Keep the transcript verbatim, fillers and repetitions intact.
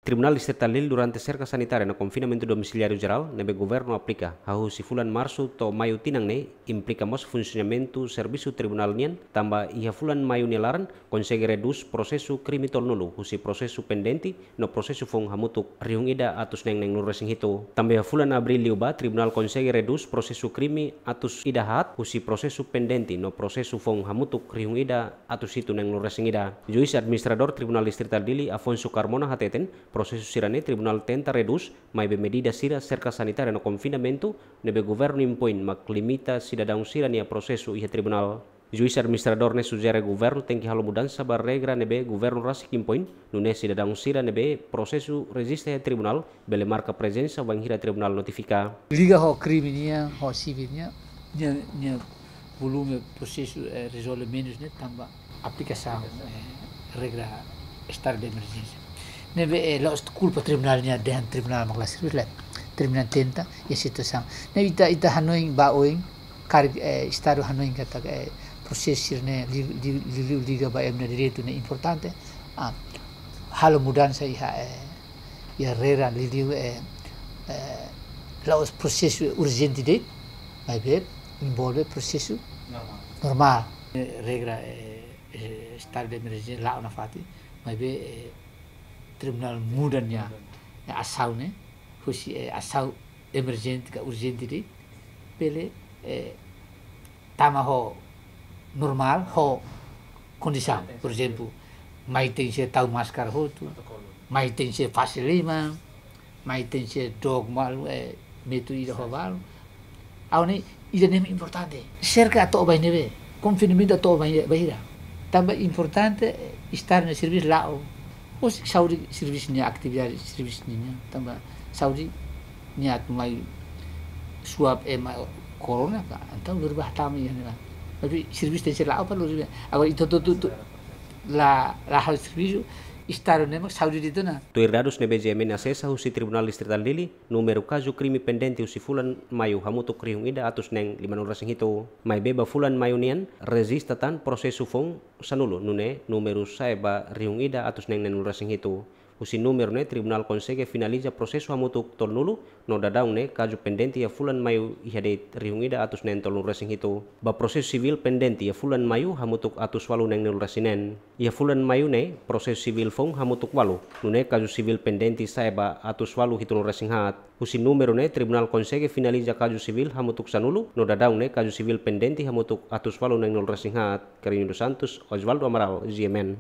Tribunál Distritál Dili durante serka sanitária no konfinamentu domisiliáriu jerál ne'ebé governu aplika hahú husi fulan Marsu to'o Maiu tinan ne'e implika mós funsionamentu servisu tribunál nian, tanba iha fulan Maiu nia laran konsege redús prosesu krime tolunulu husi prosesu pendente no prosesu foun hamutuk rihun ida atus neen neenulu resin hitu. Tanba iha fulan Abríl liubá tribunál konsege redús prosesu krime atus ida haat husi prosesu pendente no prosesu foun hamutuk rihun ida atus hitu neenulu resin ida. Juís administradór Tribunál Distritál Dili, Afonso Carmona, hateten, prosesu sira-ne'e tribunál tenta redús, maibé medida sira serka sanitária no konfinamentu ne'ebé governu impoin mak limita sidadaun sira-nia prosesu iha tribunál. Juís administradór ne'e sujere governu tenke halo mudansa ba regra ne'ebé governu rasik impoin, nune'e sidadaun sira ne'ebé prosesu rejista iha tribunál bele marka prezensa wainhira tribunál notifika. Liga ho krime nian, ho sivíl nian, nia, nia volume prosesu, eh, rezolve menus ne'e tanba aplikasaun, eh, regra estadu de emerjénsia. Ne'ebé, eh, la'ós kulpa tribunál nian, dehan tribunál mak la serbisu, lae. Tribunál tenta iha situasaun. Ne'ebé ita, ita hanoin ba oin, karik, eh, estadu hanoin katak, eh, prosesu sira-ne'e li-, li-, li-, li-, liga ba ema nia direitu ne'e importante. Ah, halo mudansa iha, eh, iha regra liuliu, eh, eh, la'ós prosesu urjente de'it, maibé envolve prosesu normál. Normál. Eh, regra, eh, eh, estadu de emerjénsia la'o nafatin, maibé, eh, tribunál muda nia, eh, asaun ne'e, husi, eh, asaun emerjente ka urjente de'it, bele, eh, tama ho normál, ho kondisaun. Por ezemplu, mai tenke tau máskara hotu, mai tenke fase liman, mai tenke dook malu, eh, metru ida ho balu. Ha'u hanoin ida-ne'e importante. Serka atu ba ne'ebé, konfinamentu atu ba ne'ebé, bainhira. Tanba importante, eh, estadu nia servisu la'o. Husik saúde servisu nia, atividade servisu nia, tanba saúde nia atu mai suap ema korona ka, entaun lori ba hatama iha ne'ebá. Tapi servisu tenke la'o para lori ba. Agora ita hotu-hotu la, la halo servisu, estadu ne'e mak saúde de'it ona. Tuir dadus ne'ebé G M N asesa husi Tribunál Distritál Dili, númeru kazu krime pendente husi fulan Maiu hamutuk rihun ida atus neen limanulu resin hitu. Maibé ba fulan Maiu nian rejista tan prosesu foun sanulu, nune'e númeru sa'e ba rihun ida atus neen neenulu resin hitu. Husi númeru ne'e tribunál konsege finaliza prosesu hamutuk tolunulu, no daudaun ne'e kazu pendente iha fulan Maiu iha de'it rihun ida atus neen tolunulu resin hitu. Ba prosesu sivíl pendente iha fulan Maiu hamutuk atus ualu neenulu resin neen. Iha fulan Maiu ne'e prosesu sivíl foun hamutuk ualu, nune'e kazu sivíl pendente sa'e ba atus ualu hitunulu resin haat. Husi númeru ne'e tribunál konsege finaliza kazu sivíl hamutuk sanulu, no daudaun ne'e kazu sivíl pendente hamutuk atus ualu neenulu resin haat. Carlinho dos Santos, Osvaldo Amaral, G M N.